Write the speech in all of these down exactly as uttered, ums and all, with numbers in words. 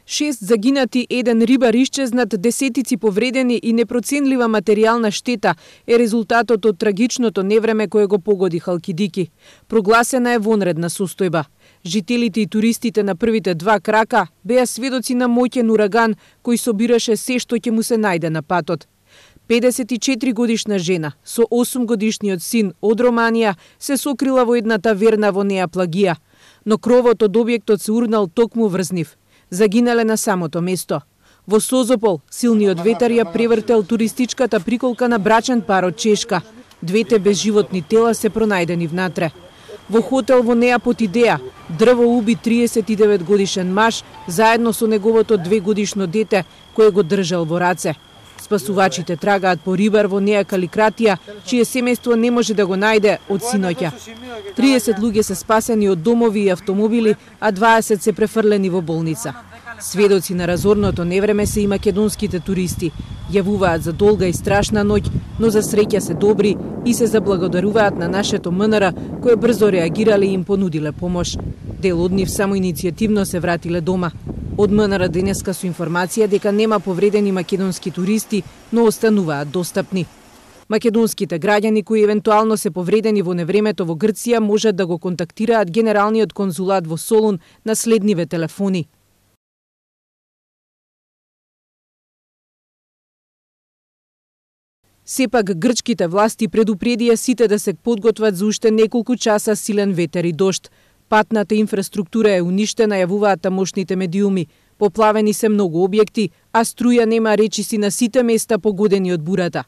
Шест загинати, еден рибар исчезнат, десетици повредени и непроценлива материјална штета е резултатот од трагичното невреме кое го погоди Халкидики. Прогласена е вонредна состојба. Жителите и туристите на првите два крака беа сведоци на моќен ураган кој собираше се што ќе му се најде на патот. педесет и четири годишна жена со осум годишниот син од Романија се сокрила во една таверна во Неа Плагија, но кровот од објектот се урнал токму врз нив. Загинале на самото место. Во Созопол, силниот ветар ја превртел туристичката приколка на брачен пар од Чешка. Двете безживотни тела се пронајдени внатре. Во хотел во Неа Потидеа, дрво уби триесет и девет годишен маж заедно со неговото двегодишно дете кое го држал во раце. Спасувачите трагаат по рибар во Неа Каликратија, чие семејство не може да го најде од синоќа. триесет луѓе се спасени од домови и автомобили, а дваесет се префрлени во болница. Сведоци на разорното невреме се и македонските туристи. Јавуваат за долга и страшна ноќ, но за среќа се добри и се заблагодаруваат на нашето МНР, кое брзо реагирале и им понудиле помош. Дел од нив само иницијативно се вратиле дома. Од МНР денеска со информација дека нема повредени македонски туристи, но остануваат достапни. Македонските граѓани кои евентуално се повредени во невремето во Грција можат да го контактираат Генералниот конзулат во Солун на следниве телефони. Сепак грчките власти предупредија сите да се подготват за уште неколку часа силен ветер и дожд. Патната инфраструктура е уништена, јавуваат тамошните медиуми. Поплавени се многу објекти, а струја нема речиси на сите места погодени од бурата.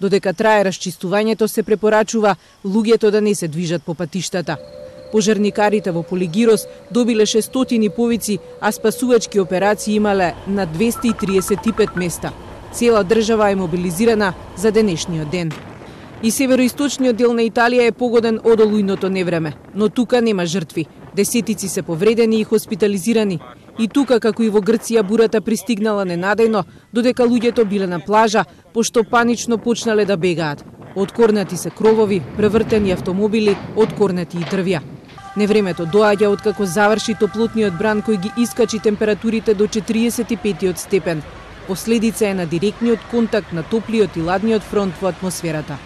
Додека трае расчистувањето, се препорачува луѓето да не се движат по патиштата. Пожарникарите во Полигирос добиле шестстотини повици, а спасувачки операции имале на двесте и триесет и пет места. Цела држава е мобилизирана за денешниот ден. И североисточниот дел на Италија е погоден од олујното невреме, но тука нема жртви. Десетици се повредени и хоспитализирани. И тука, како и во Грција, бурата пристигнала ненадејно, додека луѓето биле на плажа, пошто панично почнале да бегаат. Откорнати се кровови, превртени автомобили, откорнати и дрвја. Невремето доаѓа откако заврши топлотниот бран кој ги искачи температурите до четириесет и петиот степен. Последица е на директниот контакт на топлиот и ладниот фронт во атмосферата.